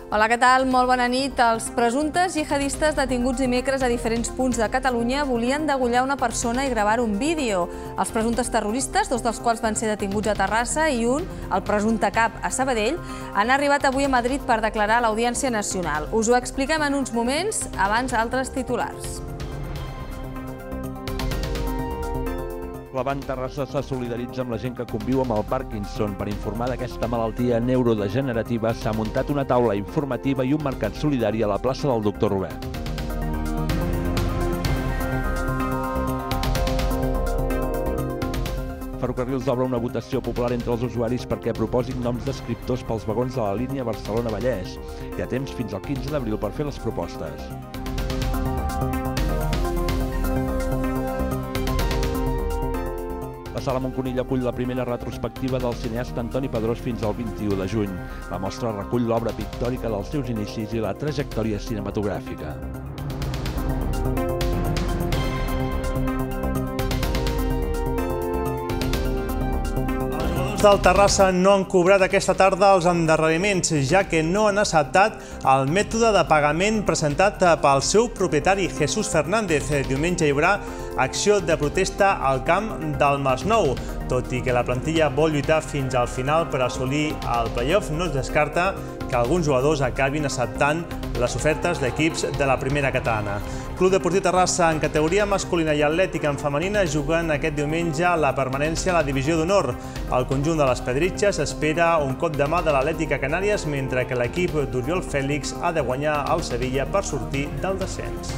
Hola, què tal? Molt bona nit. Els presumptes jihadistes detinguts dimecres a diferents punts de Catalunya volien degollar una persona i gravar un vídeo. Els presumptes terroristes, dos dels quals van ser detinguts a Terrassa i un, el presumpte cap, a Sabadell, han arribat avui a Madrid per declarar a l'Audiència Nacional. Us ho expliquem en uns moments, abans altres titulars. La Van Terrassa se solidaritza amb la gent que conviu amb el Parkinson. Per informar d'aquesta malaltia neurodegenerativa s'ha muntat una taula informativa i un mercat solidari a la plaça del Doctor Robert. Ferrocarrils obre una votació popular entre els usuaris perquè proposin noms d'escriptors pels vagons de la línia Barcelona-Vallès. Hi ha temps fins al 15 d'abril per fer les propostes. La Sala Montconill acull la primera retrospectiva del cineasta Antoni Pedrós fins al 21 de juny. La mostra recull l'obra pictòrica dels seus inicis i la trajectòria cinematogràfica. Els del Terrassa no han cobrat aquesta tarda els endarreriments, ja que no han acceptat el mètode de pagament presentat pel seu propietari, Jesús Fernández. Diumenge hi haurà acció de protesta al camp del Masnou. Tot i que la plantilla vol lluitar fins al final per assolir el play-off, no es descarta que alguns jugadors acabin acceptant les ofertes d'equips de la primera catalana. Club Deportiu Terrassa en categoria masculina i atlètica en femenina juguen aquest diumenge la permanència a la divisió d'honor. El conjunt de les Pedritxes espera un cop de mà de l'Atlètica Canàries, mentre que l'equip d'Oriol Fèlix ha de guanyar al Sevilla per sortir del descens.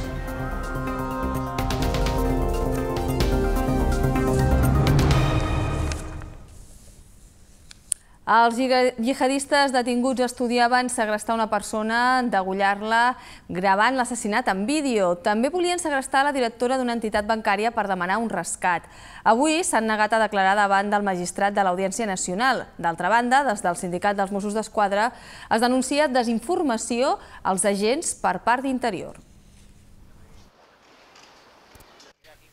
Els jihadistes detinguts estudiaven segrestar una persona, degollar-la, gravant l'assassinat en vídeo. També volien segrestar la directora d'una entitat bancària per demanar un rescat. Avui s'han negat a declarar davant del magistrat de l'Audiència Nacional. D'altra banda, des del Sindicat dels Mossos d'Esquadra es denuncia desinformació als agents per part d'Interior.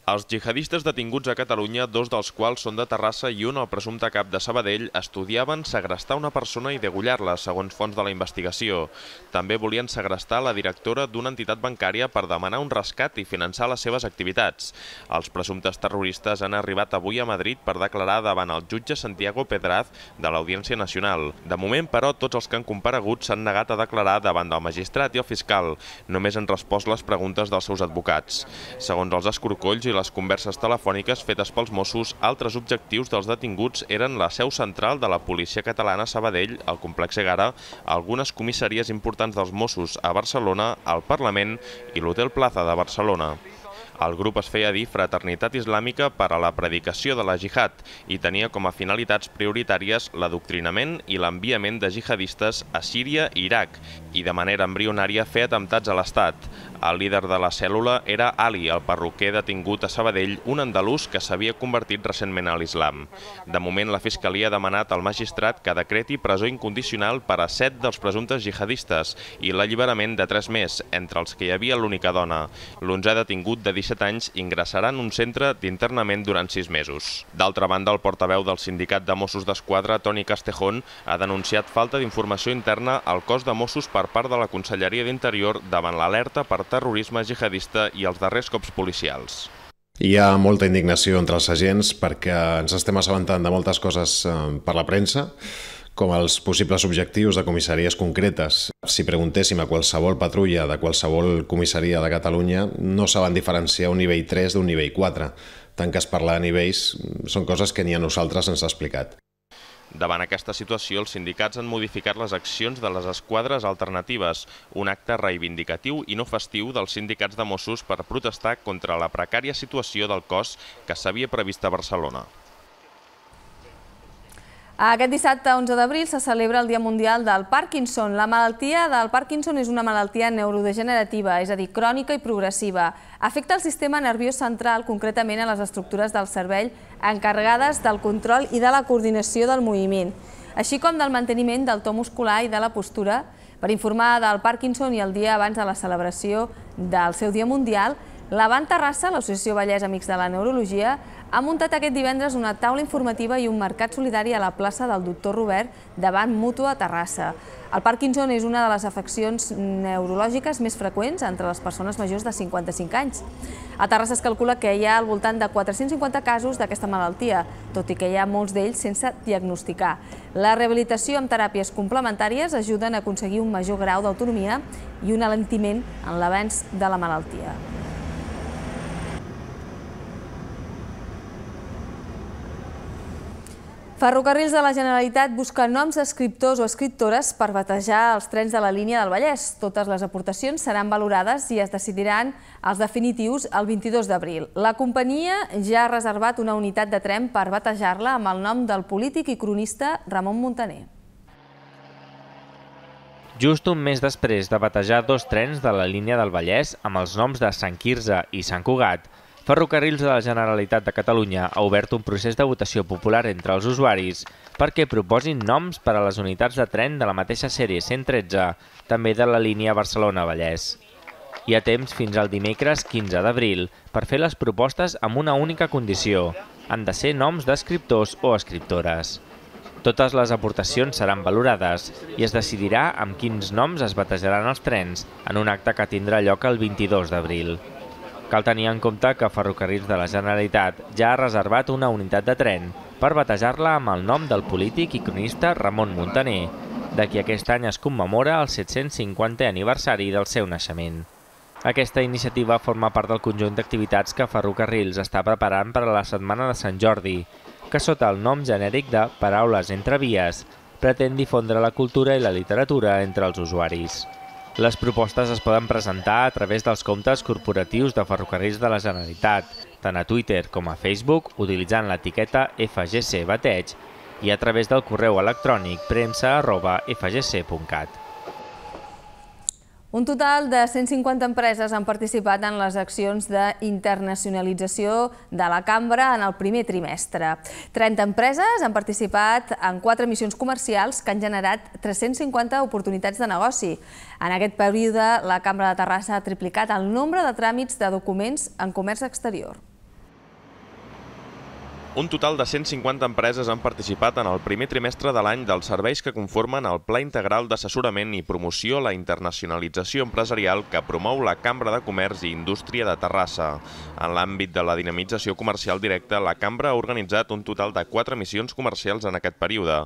Els jihadistes detinguts a Catalunya, dos dels quals són de Terrassa i un, el presumpte cap de Sabadell, estudiaven segrestar una persona i degollar-la, segons fonts de la investigació. També volien segrestar la directora d'una entitat bancària per demanar un rescat i finançar les seves activitats. Els presumptes terroristes han arribat avui a Madrid per declarar davant el jutge Santiago Pedraz de l'Audiència Nacional. De moment, però, tots els que han comparegut s'han negat a declarar davant del magistrat i el fiscal. Només han respost les preguntes dels seus advocats. Segons els escorcolls i les converses telefòniques fetes pels Mossos, altres objectius dels detinguts eren la seu central de la policia catalana a Sabadell, el complex Egara, algunes comissaries importants dels Mossos a Barcelona, el Parlament i l'Hotel Plaza de Barcelona. El grup es feia dir Fraternitat Islàmica per a la predicació de la jihad i tenia com a finalitats prioritàries l'adoctrinament i l'enviament de jihadistes a Síria i Iraq i de manera embrionària fer atemptats a l'Estat. El líder de la cèl·lula era Ali, el perruquer detingut a Sabadell, un andalús que s'havia convertit recentment a l'islam. De moment, la Fiscalia ha demanat al magistrat que decreti presó incondicional per a 7 dels presumptes jihadistes i l'alliberament de 3 més, entre els que hi havia l'única dona. L'11è detingut de 17 anys ingressarà en un centre d'internament durant 6 mesos. D'altra banda, el portaveu del Sindicat de Mossos d'Esquadra, Toni Castejón, ha denunciat falta d'informació interna al cos de Mossos per part de la Conselleria d'Interior davant l'alerta per terrorisme jihadista i els darrers cops policials. Hi ha molta indignació entre els agents perquè ens estem assabentant de moltes coses per la premsa, com els possibles objectius de comissaries concretes. Si preguntéssim a qualsevol patrulla de qualsevol comissaria de Catalunya, no saben diferenciar un nivell 3 d'un nivell 4. Tant que es parla de nivells, són coses que ni a nosaltres ens ha explicat. Davant aquesta situació, els sindicats han modificat les accions de les esquadres alternatives, un acte reivindicatiu i no festiu dels sindicats de Mossos per protestar contra la precària situació del cos que s'havia previst a Barcelona. Aquest dissabte, 11 d'abril, se celebra el Dia Mundial del Parkinson. La malaltia del Parkinson és una malaltia neurodegenerativa, és a dir, crònica i progressiva. Afecta el sistema nerviós central, concretament a les estructures del cervell encarregades del control i de la coordinació del moviment, així com del manteniment del to muscular i de la postura. Per informar del Parkinson i el dia abans de la celebració del seu Dia Mundial, la Van Terrassa, l'Associació Vallès Amics de la Neurologia, ha muntat aquest divendres una taula informativa i un mercat solidari a la plaça del Doctor Robert davant Mútua a Terrassa. El Parkinson és una de les afeccions neurològiques més freqüents entre les persones majors de 55 anys. A Terrassa es calcula que hi ha al voltant de 450 casos d'aquesta malaltia, tot i que hi ha molts d'ells sense diagnosticar. La rehabilitació amb teràpies complementàries ajuden a aconseguir un major grau d'autonomia i un alentiment en l'avanç de la malaltia. Ferrocarrils de la Generalitat busca noms d'escriptors o escriptores per batejar els trens de la línia del Vallès. Totes les aportacions seran valorades i es decidiran els definitius el 22 d'abril. La companyia ja ha reservat una unitat de tren per batejar-la amb el nom del polític i cronista Ramon Muntaner. Just un mes després de batejar dos trens de la línia del Vallès amb els noms de Sant Quirze i Sant Cugat, Ferrocarrils de la Generalitat de Catalunya ha obert un procés de votació popular entre els usuaris perquè proposin noms per a les unitats de tren de la mateixa sèrie 113, també de la línia Barcelona-Vallès. Hi ha temps fins al dimecres 15 d'abril per fer les propostes amb una única condició. Han de ser noms d'escriptors o escriptores. Totes les aportacions seran valorades i es decidirà amb quins noms es batejaran els trens en un acte que tindrà lloc el 22 d'abril. Cal tenir en compte que Ferrocarrils de la Generalitat ja ha reservat una unitat de tren per batejar-la amb el nom del polític i cronista Ramon Muntaner, de qui aquest any es commemora el 750è aniversari del seu naixement. Aquesta iniciativa forma part del conjunt d'activitats que Ferrocarrils està preparant per a la Setmana de Sant Jordi, que sota el nom genèric de Paraules entre vies pretén difondre la cultura i la literatura entre els usuaris. Les propostes es poden presentar a través dels comptes corporatius de Ferrocarrils de la Generalitat, tant a Twitter com a Facebook, utilitzant l'etiqueta FGC Bateig i a través del correu electrònic premsa@fgc.cat. Un total de 150 empreses han participat en les accions d'internacionalització de la Cambra en el primer trimestre. 30 empreses han participat en 4 missions comercials que han generat 350 oportunitats de negoci. En aquest període, la Cambra de Terrassa ha triplicat el nombre de tràmits de documents en comerç exterior. Un total de 150 empreses han participat en el primer trimestre de l'any dels serveis que conformen el Pla Integral d'Assessorament i Promoció a la Internacionalització Empresarial que promou la Cambra de Comerç i Indústria de Terrassa. En l'àmbit de la dinamització comercial directa, la Cambra ha organitzat un total de 4 missions comercials en aquest període.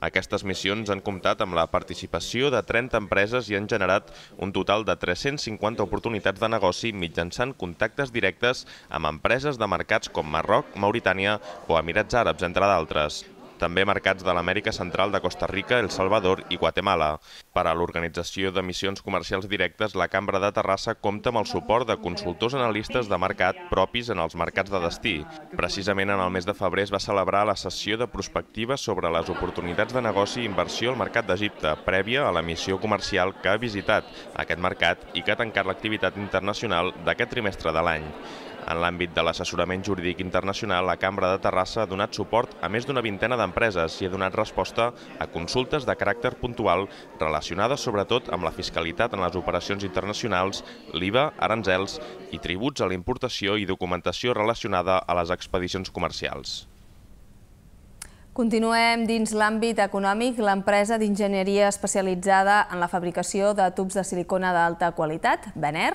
Aquestes missions han comptat amb la participació de 30 empreses i han generat un total de 350 oportunitats de negoci mitjançant contactes directes amb empreses de mercats com Marroc, Mauritània o Emirats Àrabs, entre d'altres. També mercats de l'Amèrica Central de Costa Rica, El Salvador i Guatemala. Per a l'organització de missions comercials directes, la Cambra de Terrassa compta amb el suport de consultors analistes de mercat propis en els mercats de destí. Precisament en el mes de febrer es va celebrar la sessió de prospectiva sobre les oportunitats de negoci i inversió al mercat d'Egipte, prèvia a la missió comercial que ha visitat aquest mercat i que ha tancat l'activitat internacional d'aquest trimestre de l'any. En l'àmbit de l'assessorament jurídic internacional, la Cambra de Terrassa ha donat suport a més d'una vintena d'empreses i ha donat resposta a consultes de caràcter puntual relacionades sobretot amb la fiscalitat en les operacions internacionals, l'IVA, aranzels i tributs a la importació i documentació relacionada a les expedicions comercials. Continuem dins l'àmbit econòmic. L'empresa d'enginyeria especialitzada en la fabricació de tubs de silicona d'alta qualitat, Vener,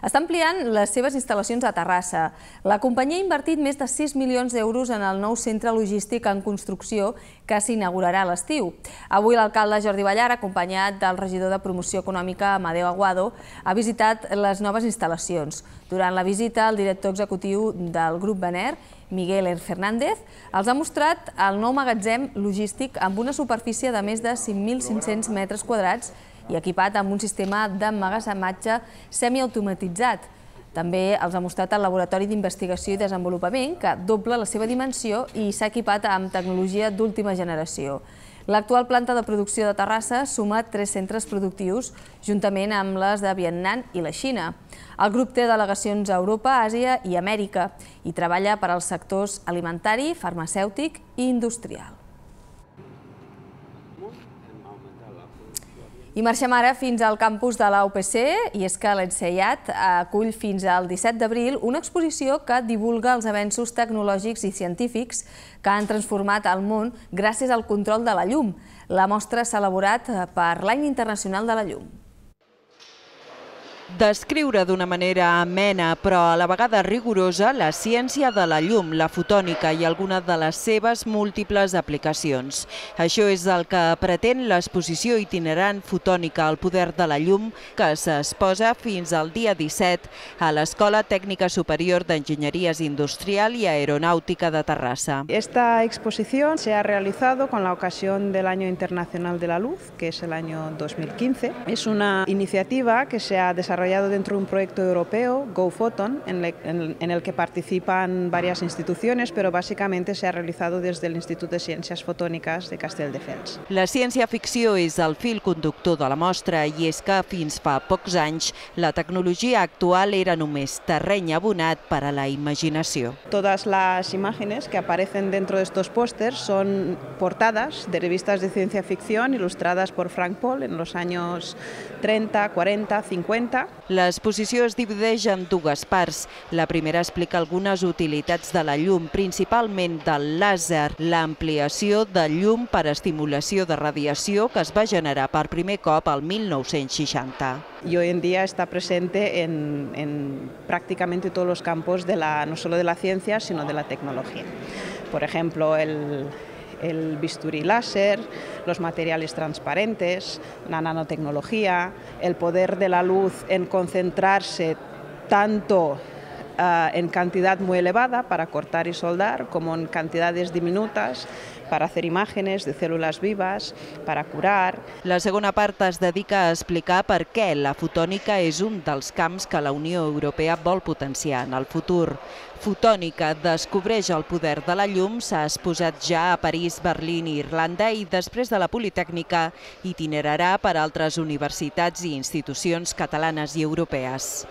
està ampliant les seves instal·lacions a Terrassa. La companyia ha invertit més de 6 milions d'euros en el nou centre logístic en construcció que s'inaugurarà a l'estiu. Avui l'alcalde Jordi Ballar, acompanyat del regidor de Promoció Econòmica Amadeu Aguado, ha visitat les noves instal·lacions. Durant la visita, el director executiu del grup Vener, Miguel Fernández, els ha mostrat el nou magatzem logístic amb una superfície de més de 5.500 metres quadrats i equipat amb un sistema d'emmagatzematge semiautomatitzat. També els ha mostrat el laboratori d'investigació i desenvolupament, que dobla la seva dimensió i s'ha equipat amb tecnologia d'última generació. L'actual planta de producció de Terrassa suma 3 centres productius, juntament amb les de Vietnam i la Xina. El grup té delegacions a Europa, Àsia i Amèrica i treballa per als sectors alimentari, farmacèutic i industrial. I marxem ara fins al campus de la UPC, i és que l'Enseiat acull fins al 17 d'abril una exposició que divulga els avenços tecnològics i científics que han transformat el món gràcies al control de la llum. La mostra s'ha elaborat per l'Any Internacional de la Llum. Descriure d'una manera amena, però a la vegada rigorosa, la ciència de la llum, la fotònica i alguna de les seves múltiples aplicacions. Això és el que pretén l'exposició itinerant Fotònica, el poder de la llum, que s'exposa fins al dia 17 a l'Escola Tècnica Superior d'Enginyerías Industrial y Aeronáutica de Terrassa. Esta exposición se ha realizado con la ocasión del Año Internacional de la Luz, que es el año 2015. Es una iniciativa que se ha desarrollado dentro de un proyecto europeo, GoPhoton, en el que participan varias instituciones, pero básicamente se ha realizado desde el Instituto de Ciencias Fotónicas de Castelldefels. La ciència-ficció és el fil conductor de la mostra, i és que fins fa pocs anys la tecnologia actual era només terreny abonat per a la imaginació. Todas las imágenes que aparecen dentro de estos pósters son portadas de revistas de ciencia ficción ilustradas por Frank Paul en los años 30, 40, 50. L'exposició es divideix en dues parts. La primera explica algunes utilitats de la llum, principalment del làser, l'ampliació de llum per estimulació de radiació que es va generar per primer cop al 1960. Y hoy en día está presente en prácticamente todos los campos no solo de la ciencia, sino de la tecnología. Por ejemplo, el bisturí láser, los materiales transparentes, la nanotecnología, el poder de la luz en concentrarse tanto en cantidad muy elevada para cortar y soldar, como en cantidades diminutas para hacer imágenes de células vivas, para curar. La segona part es dedica a explicar per què la fotònica és un dels camps que la Unió Europea vol potenciar en el futur. Fotònica descobreix el poder de la llum, s'ha exposat ja a París, Berlín i Irlanda i després de la Politècnica itinerarà per altres universitats i institucions catalanes i europees.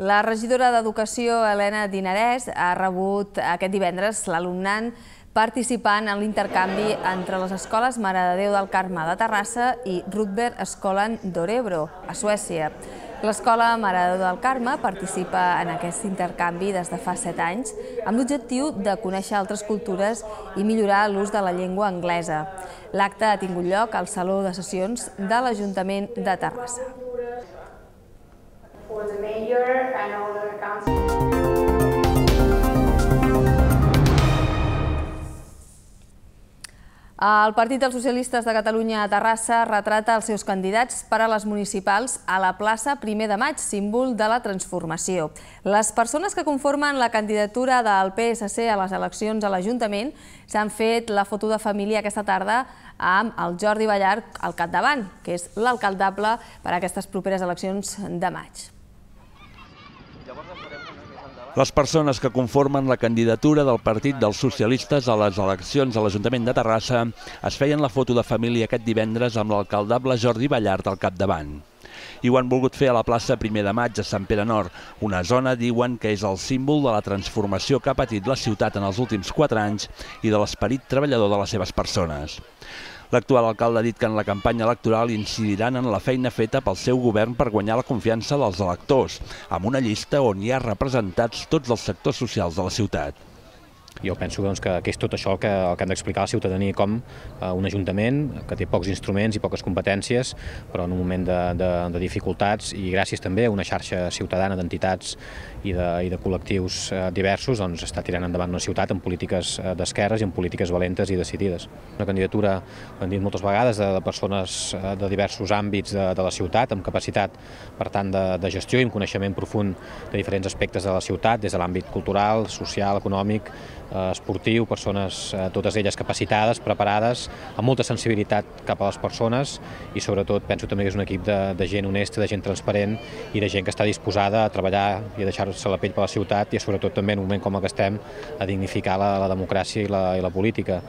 La regidora d'Educació, Helena Dinarès, ha rebut aquest divendres l'alumnat participant en l'intercanvi entre les escoles Mare de Déu del Carme de Terrassa i Rudbergsskolan d'Örebro, a Suècia. L'escola Mare de Déu del Carme participa en aquest intercanvi des de fa 7 anys amb l'objectiu de conèixer altres cultures i millorar l'ús de la llengua anglesa. L'acte ha tingut lloc al Saló de Sessions de l'Ajuntament de Terrassa. El Partit dels Socialistes de Catalunya a Terrassa retrata els seus candidats per a les municipals a la plaça 1 de maig, símbol de la transformació. Les persones que conformen la candidatura del PSC a les eleccions a l'Ajuntament s'han fet la foto de família aquesta tarda amb el Jordi Ballart al capdavant, que és l'alcaldable per a aquestes properes eleccions de maig. Les persones que conformen la candidatura del Partit dels Socialistes a les eleccions a l'Ajuntament de Terrassa es feien la foto de família aquest divendres amb l'alcaldable Jordi Ballart al capdavant. I ho han volgut fer a la plaça 1 de maig a Sant Pere Nord, una zona, diuen, que és el símbol de la transformació que ha patit la ciutat en els últims 4 anys i de l'esperit treballador de les seves persones. L'actual alcalde ha dit que en la campanya electoral incidiran en la feina feta pel seu govern per guanyar la confiança dels electors, amb una llista on hi ha representats tots els sectors socials de la ciutat. Jo penso que és tot això el que hem d'explicar a la ciutadania, com un ajuntament que té pocs instruments i poques competències, però en un moment de dificultats i gràcies també a una xarxa ciutadana d'entitats i de col·lectius diversos, està tirant endavant una ciutat amb polítiques d'esquerres i amb polítiques valentes i decidides. Una candidatura, ho hem dit moltes vegades, de persones de diversos àmbits de la ciutat, amb capacitat, per tant, de gestió i amb coneixement profund de diferents aspectes de la ciutat, des de l'àmbit cultural, social, econòmic, esportiu, persones, totes elles capacitades, preparades, amb molta sensibilitat cap a les persones i sobretot penso també que és un equip de gent honesta, de gent transparent i de gent que està disposada a treballar i a deixar-se la pell per la ciutat i sobretot també en un moment com el que estem a dignificar la democràcia i la política.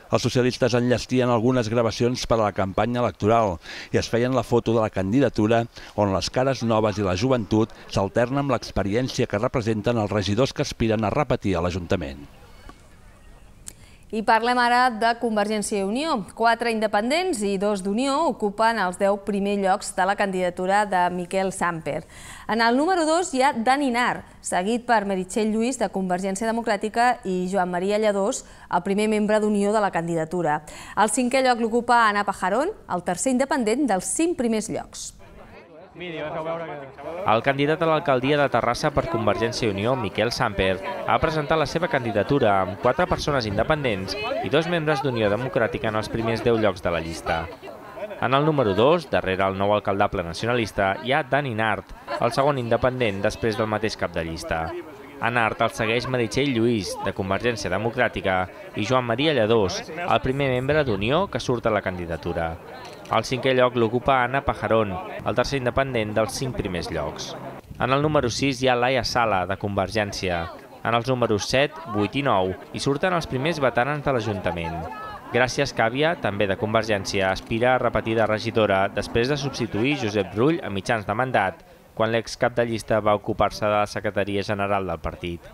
Els socialistes enllestien algunes gravacions per a la campanya electoral i es feien la foto de la candidatura on les cares noves i la joventut s'alternen amb l'experiència que representen els regidors que aspiren a repetir a l'Ajuntament. I parlem ara de Convergència i Unió. 4 independents i 2 d'Unió ocupen els 10 primers llocs de la candidatura de Miquel Samper. En el número 2 hi ha Dani Nart, seguit per Meritxell Lluís de Convergència Democràtica i Joan Maria Lladós, el primer membre d'Unió de la candidatura. El 5è lloc l'ocupa Ana Pajarón, el tercer independent dels 5 primers llocs. El candidat a l'alcaldia de Terrassa per Convergència i Unió, Miquel Samper, ha presentat la seva candidatura amb 4 persones independents i 2 membres d'Unió Democràtica en els primers 10 llocs de la llista. En el número 2, darrere el nou alcaldable nacionalista, hi ha Dani Nart, el segon independent després del mateix cap de llista. A Nart el segueix Meritxell Lluís, de Convergència Democràtica, i Joan Maria Lladós, el primer membre d'Unió que surt a la candidatura. El 5è lloc l'ocupa Ana Pajarón, el tercer independent dels 5 primers llocs. En el número 6 hi ha Laia Sala, de Convergència. En els números 7, 8 i 9 hi surten els primers veterans de l'Ajuntament. Gràcia Escàvia, també de Convergència, aspira a repetir de regidora després de substituir Josep Rull a mitjans de mandat, quan l'excap de llista va ocupar-se de la secretaria general del partit.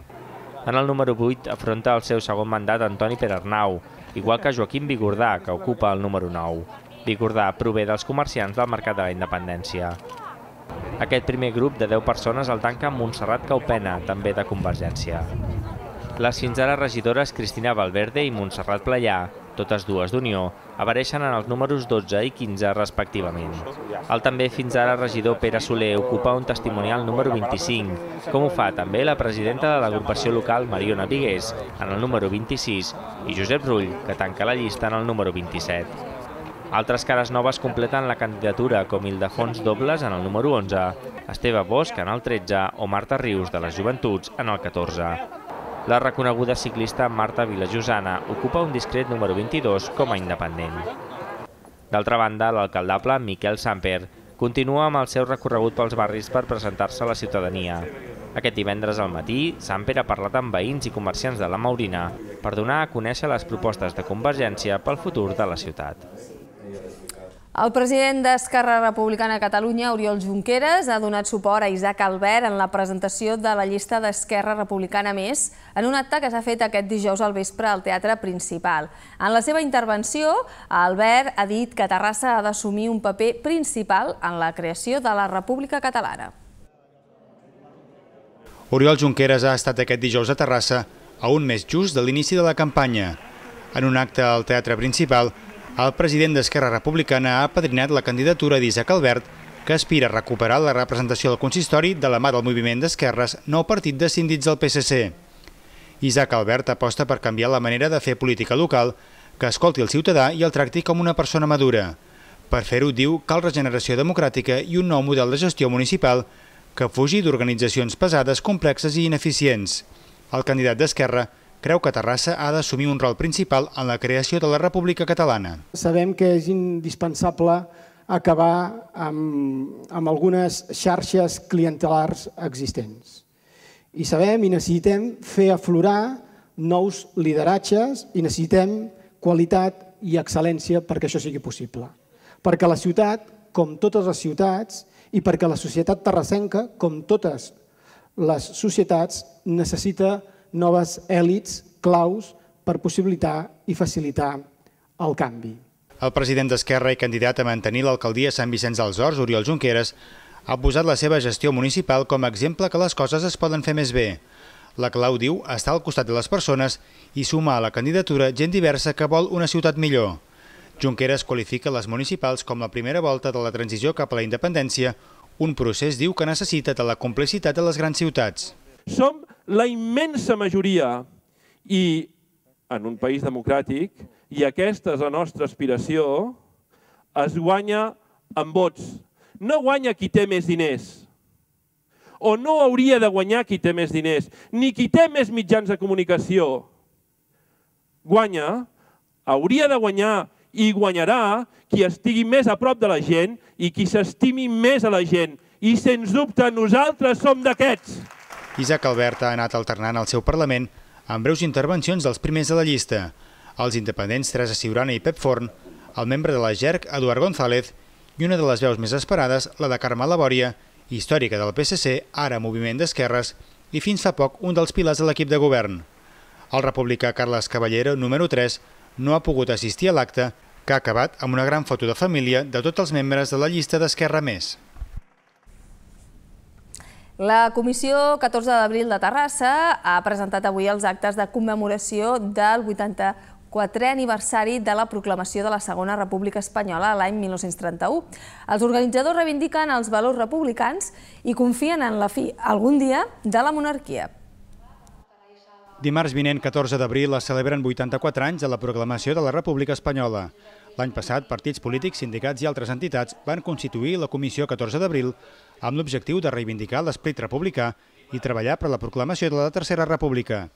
En el número 8 afronta el seu segon mandat Antoni Perarnau, igual que Joaquim Vigordà, que ocupa el número 9. Vigordà prové dels comerciants del Mercat de la Independència. Aquest primer grup de 10 persones el tanca Montserrat Caupena, també de Convergència. Les fins ara regidores Cristina Valverde i Montserrat Playà, totes dues d'Unió, apareixen en els números 12 i 15 respectivament. El també fins ara regidor Pere Soler ocupa un testimonial número 25, com ho fa també la presidenta de l'agrupació local Mariona Vigués, en el número 26, i Josep Rull, que tanca la llista en el número 27. Altres cares noves completen la candidatura, com Ildefons Dobles en el número 11, Esteve Bosch en el 13 o Marta Rius de les Joventuts en el 14. La reconeguda ciclista Marta Vilajosana ocupa un discret número 22 com a independent. D'altra banda, l'alcaldable Miquel Samper continua amb el seu recorregut pels barris per presentar-se a la ciutadania. Aquest divendres al matí, Samper ha parlat amb veïns i comerciants de la Maurina per donar a conèixer les propostes de Convergència pel futur de la ciutat. El president d'Esquerra Republicana de Catalunya, Oriol Junqueras, ha donat suport a Isaac Albert en la presentació de la llista d'Esquerra Republicana Més en un acte que s'ha fet aquest dijous al vespre al Teatre Principal. En la seva intervenció, Albert ha dit que Terrassa ha d'assumir un paper principal en la creació de la República Catalana. Oriol Junqueras ha estat aquest dijous a Terrassa a un mes just de l'inici de la campanya. En un acte al Teatre Principal, el president d'Esquerra Republicana ha apadrinat la candidatura d'Isaac Albert, que aspira a recuperar la representació del consistori de la mà del moviment d'esquerres, nou partit descendits del PSC. Isaac Albert aposta per canviar la manera de fer política local, que escolti el ciutadà i el tracti com una persona madura. Per fer-ho, diu, cal regeneració democràtica i un nou model de gestió municipal que fugi d'organitzacions pesades, complexes i ineficients. El candidat d'Esquerra creu que Terrassa ha d'assumir un rol principal en la creació de la República Catalana. Sabem que és indispensable acabar amb algunes xarxes clientelars existents. I sabem i necessitem fer aflorar nous lideratges i necessitem qualitat i excel·lència perquè això sigui possible. Perquè la ciutat, com totes les ciutats, i perquè la societat terrassenca, com totes les societats, necessita noves èlits claus per possibilitar i facilitar el canvi. El president d'Esquerra i candidat a mantenir l'alcaldia de Sant Vicenç dels Horts, Oriol Junqueras, ha posat la seva gestió municipal com a exemple que les coses es poden fer més bé. La clau, diu, està al costat de les persones i sumar a la candidatura gent diversa que vol una ciutat millor. Junqueras qualifica les municipals com la primera volta de la transició cap a la independència, un procés, diu, que necessita de la complicitat de les grans ciutats. Som la immensa majoria i en un país democràtic, i aquesta és la nostra aspiració, es guanya amb vots. No guanya qui té més diners, o no hauria de guanyar qui té més diners, ni qui té més mitjans de comunicació. Guanya, hauria de guanyar i guanyarà qui estigui més a prop de la gent i qui s'estimi més a la gent. I, sens dubte, nosaltres som d'aquests. Isaac Albert ha anat alternant al seu Parlament amb breus intervencions dels primers de la llista. Els independents Teresa Ciurana i Pep Forn, el membre de la GERC, Eduard González, i una de les veus més esperades, la de Carme Labòria, històrica del PSC, ara moviment d'esquerres, i fins fa poc un dels pilars de l'equip de govern. El republicà Carles Caballero, número 3, no ha pogut assistir a l'acte, que ha acabat amb una gran foto de família de tots els membres de la llista d'Esquerra Més. La Comissió 14 d'abril de Terrassa ha presentat avui els actes de commemoració del 84è aniversari de la proclamació de la Segona República Espanyola l'any 1931. Els organitzadors reivindiquen els valors republicans i confien en la fi, algun dia, de la monarquia. Dimarts vinent, 14 d'abril, es celebren 84 anys de la proclamació de la República Espanyola. L'any passat, partits polítics, sindicats i altres entitats van constituir la Comissió 14 d'abril amb l'objectiu de reivindicar l'esperit republicà i treballar per la proclamació de la Tercera República.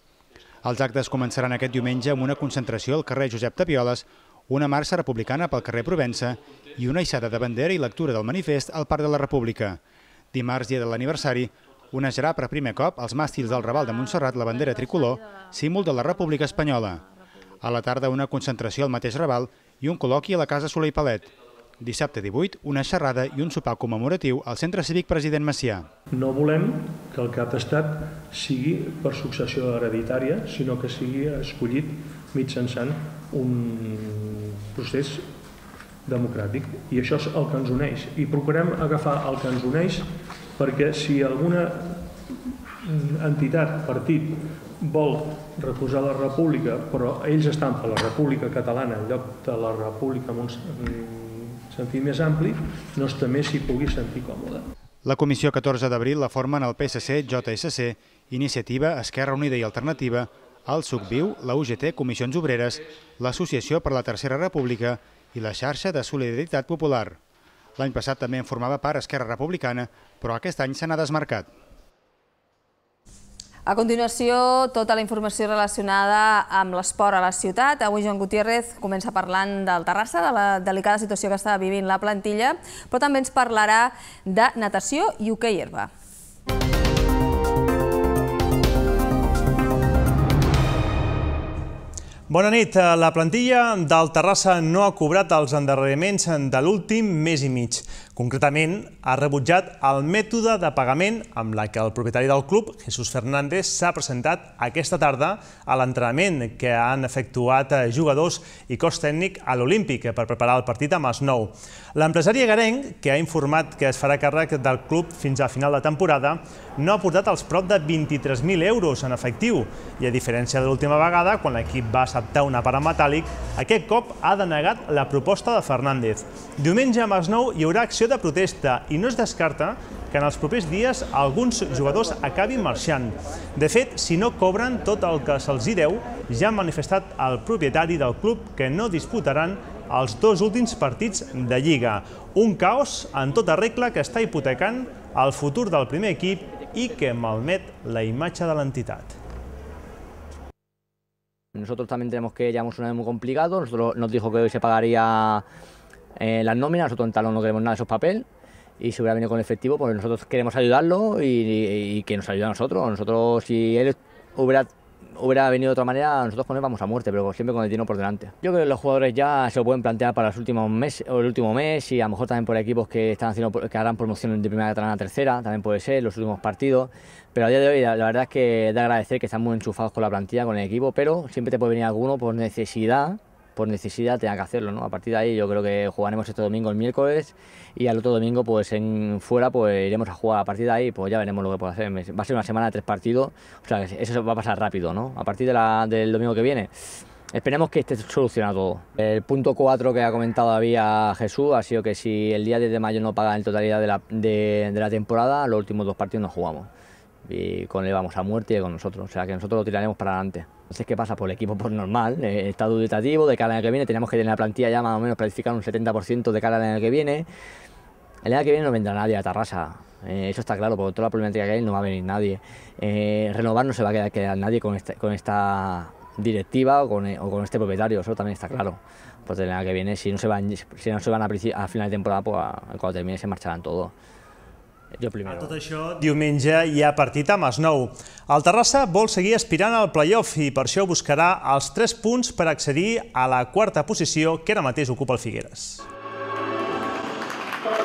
Els actes començaran aquest diumenge amb una concentració al carrer Josep Tapioles, una marxa republicana pel carrer Provença i una hissada de bandera i lectura del manifest al Parc de la República. Dimarts, dia de l'aniversari, onejarà per primer cop als màstils del Raval de Montserrat la bandera tricolor, símbol de la República Espanyola. A la tarda, una concentració al mateix Raval i un col·loqui a la Casa Soler i Palet. Dissabte 18, una xerrada i un sopar commemoratiu al Centre Cívic President Macià. No volem que el cap d'estat sigui per successió hereditària, sinó que sigui escollit mitjançant un procés democràtic. I això és el que ens uneix. I procurem agafar el que ens uneix perquè si alguna entitat, partit, vol recolzar la república, però ells estan per la república catalana en lloc de la república en un sentit més ampli, no també s'hi pugui sentir còmode. La Comissió 14 d'abril la formen el PSC, JSC, Iniciativa, Esquerra Unida i Alternativa, el SUCViu, la UGT, Comissions Obreres, l'Associació per la Tercera República i la Xarxa de Solidaritat Popular. L'any passat també en formava part Esquerra Republicana, però aquest any se n'ha desmarcat. A continuació, tota la informació relacionada amb l'esport a la ciutat. Avui Joan Gutiérrez comença parlant del Terrassa, de la delicada situació que està vivint la plantilla, però també ens parlarà de natació i hoquei herba. Bona nit. La plantilla del Terrassa no ha cobrat els endarreriments de l'últim mes i mig. Concretament, ha rebutjat el mètode de pagament amb la que el propietari del club, Jesús Fernández, s'ha presentat aquesta tarda a l'entrenament que han efectuat jugadors i cos tècnic a l'Olímpic per preparar el partit amb Masnou. L'empresari egarenc, que ha informat que es farà càrrec del club fins a final de temporada, no ha portat els prop de 23.000 euros en efectiu i, a diferència de l'última vegada, quan l'equip va acceptar un apart metàl·lic, aquest cop ha denegat la proposta de Fernández. Diumenge a Masnou hi haurà acció de protesta i no es descarta que en els propers dies alguns jugadors acabin marxant. De fet, si no cobren tot el que se'ls hi deu, ja ha manifestat el propietari del club que no disputaran els dos últims partits de Lliga. Un caos en tota regla que està hipotecant el futur del primer equip i que malmet la imatge de l'entitat. Nosotros también tenemos que llevamos un año muy complicado. Nosotros nos dijo que hoy se pagaría las nóminas. Nosotros en talón no queremos nada de esos papeles y si hubiera venido con efectivo, pues nosotros queremos ayudarlo y que nos ayude a nosotros. Nosotros, si él hubiera venido de otra manera, nosotros con él vamos a muerte, pero siempre con el dinero por delante. Yo creo que los jugadores ya se lo pueden plantear para los últimos meses o el último mes y a lo mejor también por equipos que están haciendo, que harán promoción de primera catalana a tercera, también puede ser los últimos partidos. Pero a día de hoy la verdad es que da agradecer que están muy enchufados con la plantilla, con el equipo, pero siempre te puede venir alguno por necesidad tenga que hacerlo, ¿no? A partir de ahí yo creo que jugaremos este domingo el miércoles y al otro domingo pues fuera pues iremos a jugar. A partir de ahí pues ya veremos lo que puede hacer. Va a ser una semana de 3 partidos, o sea eso va a pasar rápido, ¿no? A partir del domingo que viene esperemos que esté solucionado todo. El punto 4 que ha comentado había Jesús ha sido que si el día 10 de mayo no paga en totalidad de la temporada, los últimos 2 partidos no jugamos. Y con él vamos a muerte y con nosotros, o sea que nosotros lo tiraremos para adelante. Entonces, ¿qué pasa? Por el equipo, pues normal, está dubitativo, de cara al año que viene tenemos que tener la plantilla ya más o menos planificar un 70% de cara al año que viene. El año que viene no vendrá nadie a Tarrasa, eso está claro, por toda la problemática que hay no va a venir nadie. Renovar no se va a quedar nadie con esta directiva o con este propietario, eso también está claro. Pues el año que viene, si no se van a final de temporada, pues cuando termine se marcharán todos. A tot això, diumenge hi ha partit a Masnou. El Terrassa vol seguir aspirant al play-off i per això buscarà els 3 punts per accedir a la 4a posició que ara mateix ocupa el Figueres.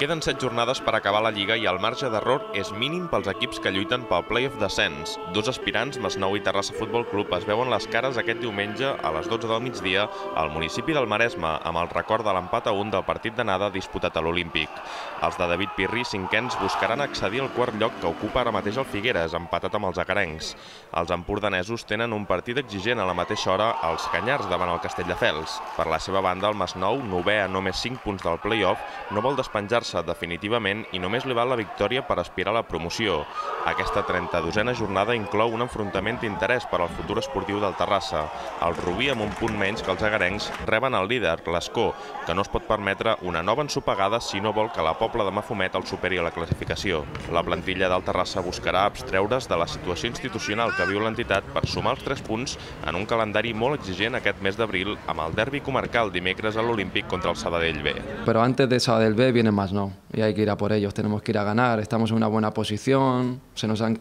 Queden 7 jornades per acabar la Lliga i el marge d'error és mínim pels equips que lluiten pel play-off descens. Dos aspirants, Masnou i Terrassa Futbol Club, es veuen les cares aquest diumenge a les 12 del migdia al municipi del Maresme, amb el record de l'empat a 1 del partit d'anada disputat a l'Olímpic. Els de David Pirri, cinquens, buscaran accedir al quart lloc que ocupa ara mateix el Figueres, empatat amb els agarencs. Els empordanesos tenen un partit exigent a la mateixa hora als Canyars davant el Castelldefels. Per la seva banda, el Masnou, novè a només 5 punts del play-off, no vol despenjar-se definitivament i només li val la victòria per aspirar a la promoció. Aquesta 32a jornada inclou un enfrontament d'interès per al futur esportiu del Terrassa. El Rubí, amb un punt menys que els agarencs, reben el líder, l'Escó, que no es pot permetre una nova ensopegada si no vol que la Pobla de Mafumet el superi a la classificació. La plantilla del Terrassa buscarà abstreure's de la situació institucional que viu l'entitat per sumar els 3 punts en un calendari molt exigent aquest mes d'abril amb el derbi comarcal dimecres a l'Olímpic contra el Sabadell B. Pero antes de Sabadell B viene Masnou y hay que ir a por ellos, tenemos que ir a ganar, estamos en una buena posición, se nos han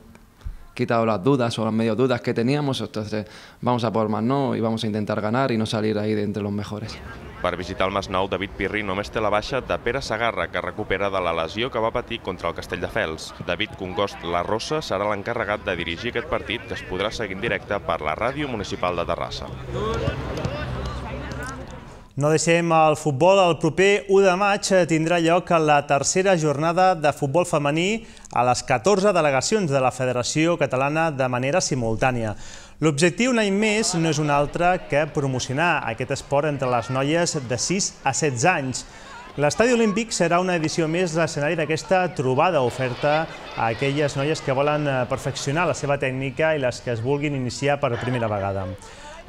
quitado las dudas o las medio dudas que teníamos, entonces vamos a por Masnou y vamos a intentar ganar y no salir ahí de entre los mejores. Per visitar el Masnou, David Pirri només té la baixa de Pere Sagarra, que recupera de la lesió que va patir contra el Castelldefels. David Congost La Rosa serà l'encarregat de dirigir aquest partit, que es podrà seguir en directe per la ràdio municipal de Terrassa. No deixem el futbol. El proper 1 de maig tindrà lloc la tercera jornada de futbol femení a les 14 delegacions de la Federació Catalana de manera simultània. L'objectiu, un any més, no és un altre que promocionar aquest esport entre les noies de 6 a 16 anys. L'Estadi Olímpic serà una edició més l'escenari d'aquesta trobada oferta a aquelles noies que volen perfeccionar la seva tècnica i les que es vulguin iniciar per primera vegada.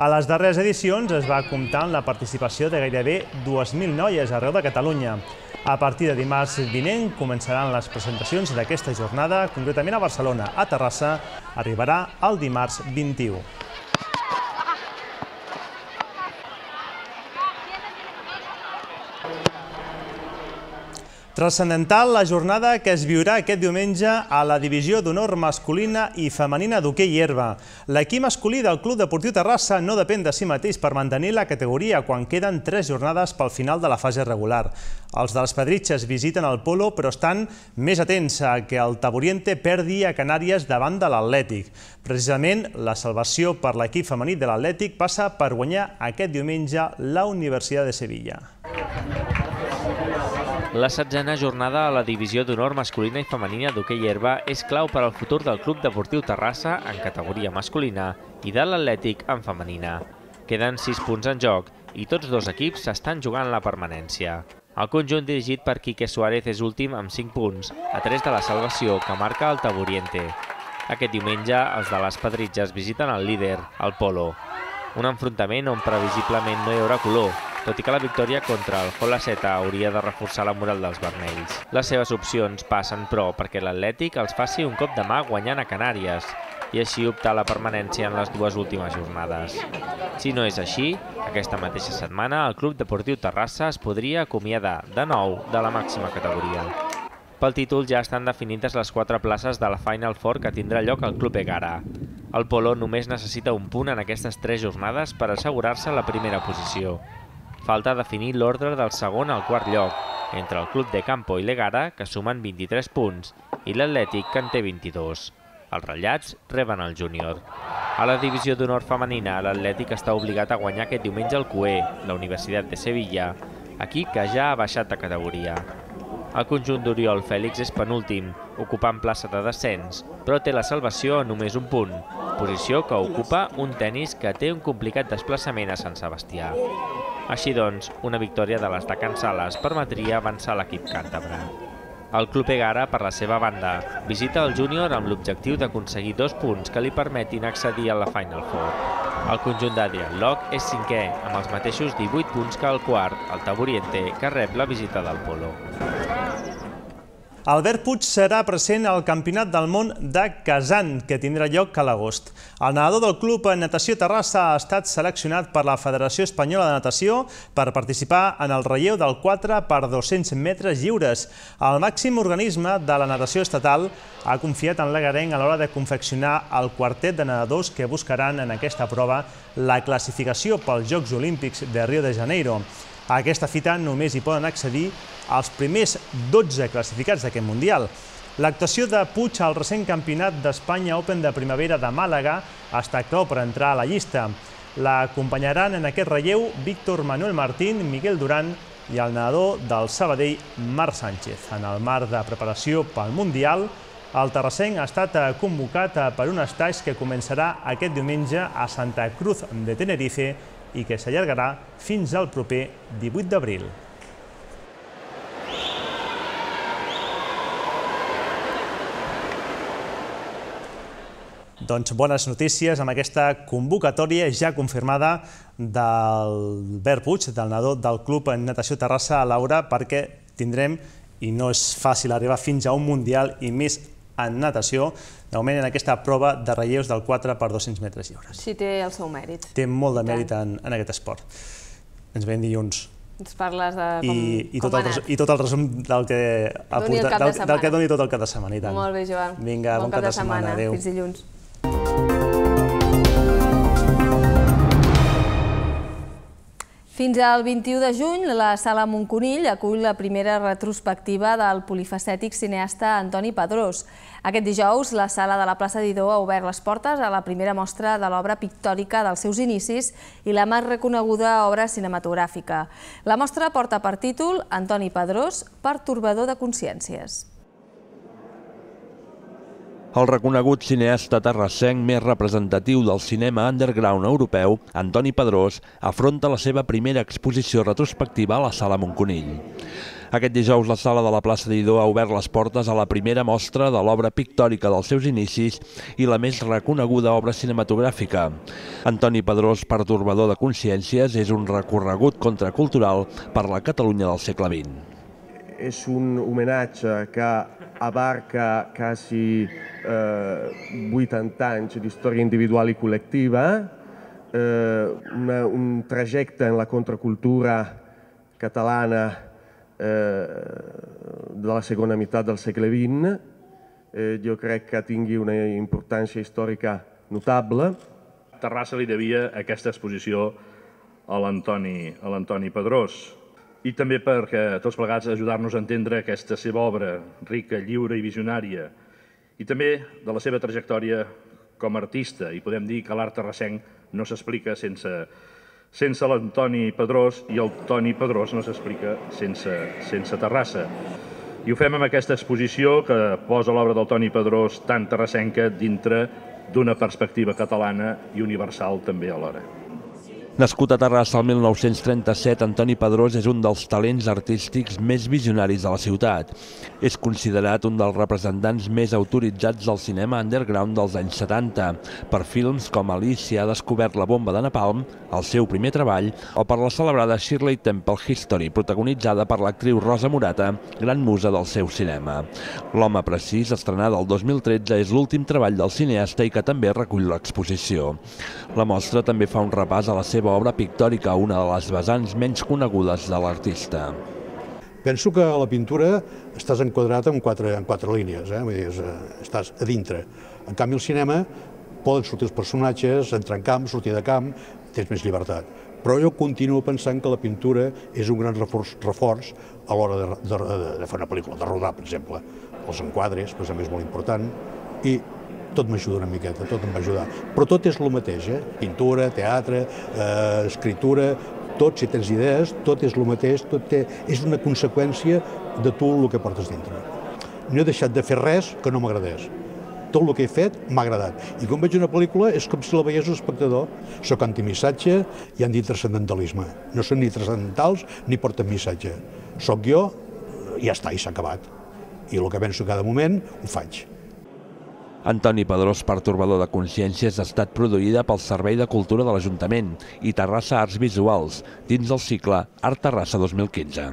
A les darreres edicions es va comptar amb la participació de gairebé 2.000 noies arreu de Catalunya. A partir de dimarts vinent començaran les presentacions d'aquesta jornada, concretament a Barcelona. A Terrassa arribarà el dimarts 21. Transcendental la jornada que es viurà aquest diumenge a la divisió d'honor masculina i femenina d'hoquei herba. L'equip masculí del Club Deportiu Terrassa no depèn de si mateix per mantenir la categoria quan queden 3 jornades pel final de la fase regular. Els dels Pedritxes visiten el Polo però estan més atents a que el Taburiente perdi a Canàries davant de l'Atlètic. Precisament, la salvació per l'equip femení de l'Atlètic passa per guanyar aquest diumenge la Universitat de Sevilla. La 16a jornada a la divisió d'honor masculina i femenina d'hoquei herba és clau per al futur del Club Deportiu Terrassa en categoria masculina i de l'Atlètic en femenina. Queden 6 punts en joc i tots dos equips s'estan jugant la permanència. El conjunt dirigit per Quique Suárez és últim amb 5 punts, a 3 de la salvació que marca el Taburiente. Aquest diumenge els de les Pedritxes visiten el líder, el Polo. Un enfrontament on previsiblement no hi haurà color, tot i que la victòria contra el Holaceta hauria de reforçar la moral dels vermells. Les seves opcions passen, però, perquè l'Atlètic els faci un cop de mà guanyant a Canàries i així optar a la permanència en les 2 últimes jornades. Si no és així, aquesta mateixa setmana el Club Deportiu Terrassa es podria acomiadar de nou de la màxima categoria. Pel títol ja estan definides les 4 places de la Final Four que tindrà lloc al Club Egara. El Polo només necessita un punt en aquestes 3 jornades per assegurar-se la primera posició. Falta definir l'ordre del segon al quart lloc, entre el Club de Campo i l'Egara, que sumen 23 punts, i l'Atlètic, que en té 22. Els ratllats reben el júnior. A la divisió d'honor femenina, l'Atlètic està obligat a guanyar aquest diumenge el CUE, la Universitat de Sevilla, equip que ja ha baixat de categoria. El conjunt d'Oriol Fèlix és penúltim, ocupant plaça de descens, però té la salvació a només un punt, posició que ocupa un tennis que té un complicat desplaçament a Sant Sebastià. Així doncs, una victòria de les de Can Sales permetria avançar l'equip càntabre. El Club Egara, per la seva banda, visita el júnior amb l'objectiu d'aconseguir 2 punts que li permetin accedir a la Final Four. El conjunt d'Adrián Loc és 5è, amb els mateixos 18 punts que el quart, el Taburiente, que rep la visita del Polo. Albert Puig serà present al Campionat del Món de Kazan, que tindrà lloc a l'agost. El nedador del Club Natació Terrassa ha estat seleccionat per la Federació Espanyola de Natació per participar en el relleu del 4x200 metres lliures. El màxim organisme de la natació estatal ha confiat en l'egarenc a l'hora de confeccionar el quartet de nedadors que buscaran en aquesta prova la classificació pels Jocs Olímpics de Rio de Janeiro. A aquesta fita només hi poden accedir els primers 12 classificats d'aquest Mundial. L'actuació de Puig al recent Campionat d'Espanya Open de Primavera de Màlaga està clau per entrar a la llista. L'acompanyaran en aquest relleu Víctor Manuel Martín, Miguel Duran i el nedador del Sabadell, Marc Sánchez. En el marc de preparació pel Mundial, el terrassenc ha estat convocat per un estatge que començarà aquest diumenge a Santa Cruz de Tenerife i que s'allargarà fins al proper 18 d'abril. Doncs bones notícies amb aquesta convocatòria ja confirmada d'Albert Puig, del nedador del Club Natació Terrassa a Laura, perquè tindrem, i no és fàcil arribar fins a un Mundial i més en natació, de moment en aquesta prova de relleus del 4x200 metres lliures. Sí, té el seu mèrit. Té molt de mèrit en aquest esport. Ens veiem dilluns. Ens parles de com ha anat. I tot el resum del que doni tot el cap de setmana. Molt bé, Joan. Vinga, bon cap de setmana. Adéu. Fins dilluns. Fins al 21 de juny, la Sala Montconill acull la primera retrospectiva del polifacètic cineasta Antoni Padrós. Aquest dijous, la Sala de la plaça Didó ha obert les portes a la primera mostra de l'obra pictòrica dels seus inicis i la més reconeguda obra cinematogràfica. La mostra porta per títol Antoni Padrós, pertorbador de consciències. El reconegut cineasta terrassenc més representatiu del cinema underground europeu, Antoni Padrós, afronta la seva primera exposició retrospectiva a la Sala Montconill. Aquest dijous la Sala de la plaça Didó ha obert les portes a la primera mostra de l'obra pictòrica dels seus inicis i la més reconeguda obra cinematogràfica. Antoni Padrós, pertorbador de consciències, és un recorregut contracultural per la Catalunya del segle XX. És un homenatge que abarca quasi 80 anys d'història individual i col·lectiva, un trajecte en la contracultura catalana de la segona meitat del segle XX. Jo crec que tingui una importància històrica notable. Terrassa li devia aquesta exposició a l'Antoni Padrós. I també perquè tots plegats ajudar-nos a entendre aquesta seva obra rica, lliure i visionària, i també de la seva trajectòria com a artista. I podem dir que l'art terrassenc no s'explica sense l'Antoni Padrós i el Toni Padrós no s'explica sense Terrassa. I ho fem amb aquesta exposició que posa l'obra del Toni Padrós tan terrassenca dintre d'una perspectiva catalana i universal també alhora. Nascut a Terrassa el 1937, Antoni Padrós és un dels talents artístics més visionaris de la ciutat. És considerat un dels representants més autoritzats del cinema underground dels anys 70, per films com Alicia ha descobert la bomba de napalm, el seu primer treball, o per la celebrada Shirley Temple History, protagonitzada per l'actriu Rosa Morata, gran musa del seu cinema. L'home precís, estrenada el 2013, és l'últim treball del cineasta i que també recull l'exposició. La mostra també fa un repàs a la seva obra pictòrica, una de les vessants menys conegudes de l'artista. Penso que a la pintura estàs enquadrat en quatre línies, vull dir, estàs a dintre. En canvi, al cinema poden sortir els personatges, entrar en camp, sortir de camp, tens més llibertat. Però jo continuo pensant que la pintura és un gran reforç a l'hora de fer una pel·lícula, de rodar, per exemple. Els enquadres, per exemple, és molt important, i tot m'ajuda una miqueta, tot em va ajudar. Però tot és el mateix, pintura, teatre, escritura, tot, si tens idees, tot és el mateix, és una conseqüència de tu el que portes dintre. No he deixat de fer res que no m'agradés. Tot el que he fet m'ha agradat. I quan veig una pel·lícula és com si la veiés un espectador. Soc antimissatge i antitranscendentalisme. No són ni transcendentals ni porten missatge. Soc jo i ja està, i s'ha acabat. I el que penso cada moment ho faig. Antoni Padrós, pertorbador de consciències, ha estat produïda pel Servei de Cultura de l'Ajuntament i Terrassa Arts Visuals, dins del cicle Art Terrassa 2015.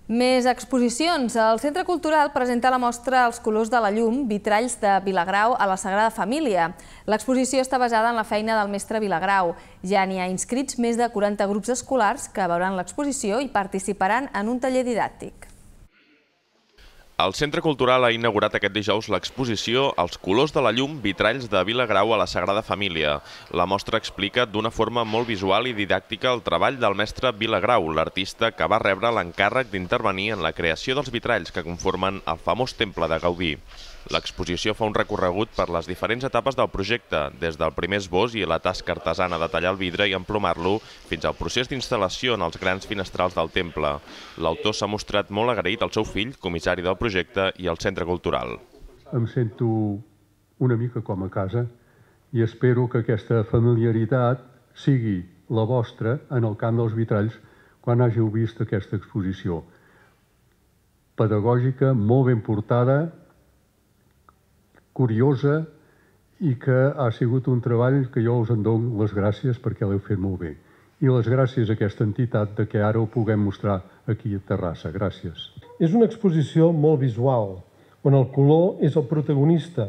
Més exposicions. El Centre Cultural presenta la mostra Els colors de la llum, vitralls de Vilagrau a la Sagrada Família. L'exposició està basada en la feina del mestre Vilagrau. Ja n'hi ha inscrits més de 40 grups escolars que veuran l'exposició i participaran en un taller didàctic. El Centre Cultural ha inaugurat aquest dijous l'exposició Els colors de la llum, vitralls de Vilagrau a la Sagrada Família. La mostra explica d'una forma molt visual i didàctica el treball del mestre Vilagrau, l'artista que va rebre l'encàrrec d'intervenir en la creació dels vitralls que conformen el famós temple de Gaudí. L'exposició fa un recorregut per les diferents etapes del projecte, des del primer esbós i la tasca artesana de tallar el vidre i emplomar-lo, fins al procés d'instal·lació en els grans finestrals del temple. L'autor s'ha mostrat molt agraït al seu fill, comissari del projecte, i al centre cultural. Em sento una mica com a casa i espero que aquesta familiaritat sigui la vostra en el camp dels vitralls quan hàgiu vist aquesta exposició. Pedagògica, molt ben portada, curiosa i que ha sigut un treball que jo us en dono les gràcies perquè l'heu fet molt bé. I les gràcies a aquesta entitat de que ara ho puguem mostrar aquí a Terrassa. Gràcies. És una exposició molt visual, on el color és el protagonista,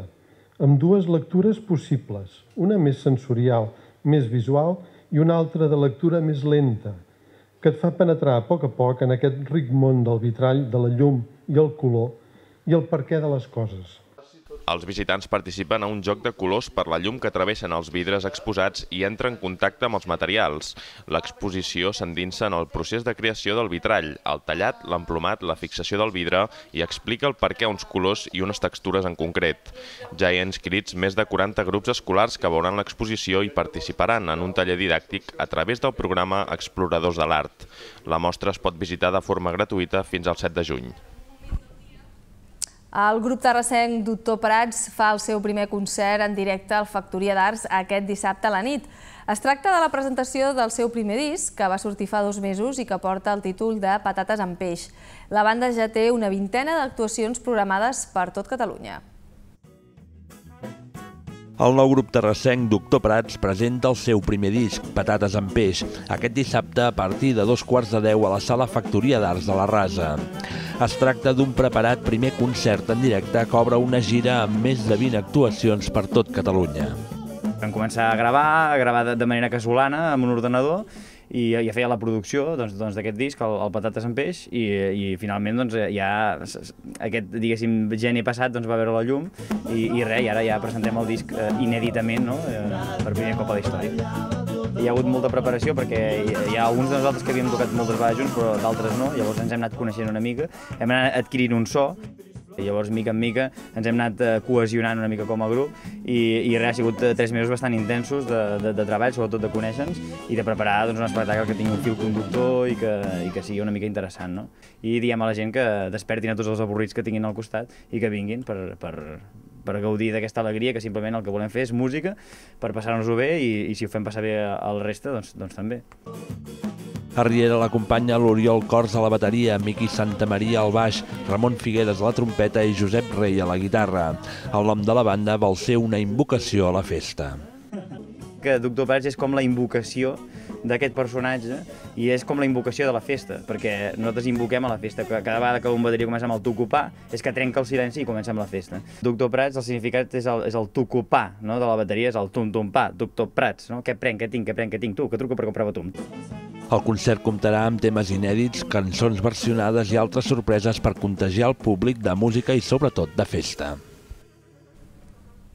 amb dues lectures possibles, una més sensorial, més visual, i una altra de lectura més lenta, que et fa penetrar a poc en aquest ric món del vitrall, de la llum i el color, i el perquè de les coses. Els visitants participen a un joc de colors per la llum que travessen els vidres exposats i entren en contacte amb els materials. L'exposició s'endinsa en el procés de creació del vitrall, el tallat, l'emplomat, la fixació del vidre i explica el perquè uns colors i unes textures en concret. Ja hi ha inscrits més de 40 grups escolars que veuran l'exposició i participaran en un taller didàctic a través del programa Exploradors de l'Art. La mostra es pot visitar de forma gratuïta fins al 7 de juny. El grup terrassenc Doctor Prats fa el seu primer concert en directe al Factoria d'Arts aquest dissabte a la nit. Es tracta de la presentació del seu primer disc, que va sortir fa 2 mesos i que porta el títol de Patates amb peix. La banda ja té una vintena d'actuacions programades per tot Catalunya. El nou grup terrassenc Doctor Prats presenta el seu primer disc, Patates amb peix, aquest dissabte a partir de 9:45 a la sala Factoria d'Arts de la Rasa. Es tracta d'un preparat primer concert en directe que obre una gira amb més de 20 actuacions per tot Catalunya. Vam començar a gravar de manera casolana amb un ordenador i ja feia la producció d'aquest disc, el Patates amb peix, i finalment ja aquest, diguéssim, geni passat va veure la llum i ara ja presentem el disc inèditament per primer cop a la història. Hi ha hagut molta preparació perquè hi ha alguns de nosaltres que havíem tocat moltes vegades junts però d'altres no, llavors ens hem anat coneixent una mica, hem anat adquirint un so. Llavors, mica en mica, ens hem anat cohesionant una mica com a grup i ha sigut 3 mesos bastant intensos de treball, sobretot de conèixer-nos i de preparar un espectacle que tingui un fil conductor i que sigui una mica interessant. I diem a la gent que despertin a tots els avorrits que tinguin al costat i que vinguin per gaudir d'aquesta alegria, que simplement el que volem fer és música per passar-nos-ho bé i si ho fem passar bé al reste, doncs també. A Riera l'acompanya l'Oriol Cors a la bateria, Miqui Santamaria al baix, Ramon Figueres a la trompeta i Josep Rei a la guitarra. El nom de la banda vol ser una invocació a la festa. Que Doctor Prats és com la invocació d'aquest personatge i és com la invocació de la festa, perquè nosaltres invoquem a la festa. Cada vegada que un bateria comença amb el tucupà és que trenca el silenci i comença amb la festa. Doctor Prats, el significat és el tucupà de la bateria, és el tum-tum-pà, Doctor Prats. Què prenc, què tinc, tu, que truco per comprar batum. El concert comptarà amb temes inèdits, cançons versionades i altres sorpreses per contagiar el públic de música i sobretot de festa.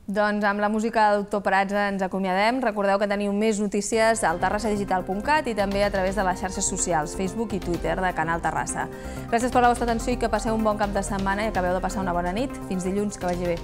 Doncs amb la música de Doctor Prats ens acomiadem. Recordeu que teniu més notícies al terrassadigital.cat i també a través de les xarxes socials, Facebook i Twitter de Canal Terrassa. Gràcies per la vostra atenció i que passeu un bon cap de setmana i acabeu de passar una bona nit. Fins dilluns, que vagi bé.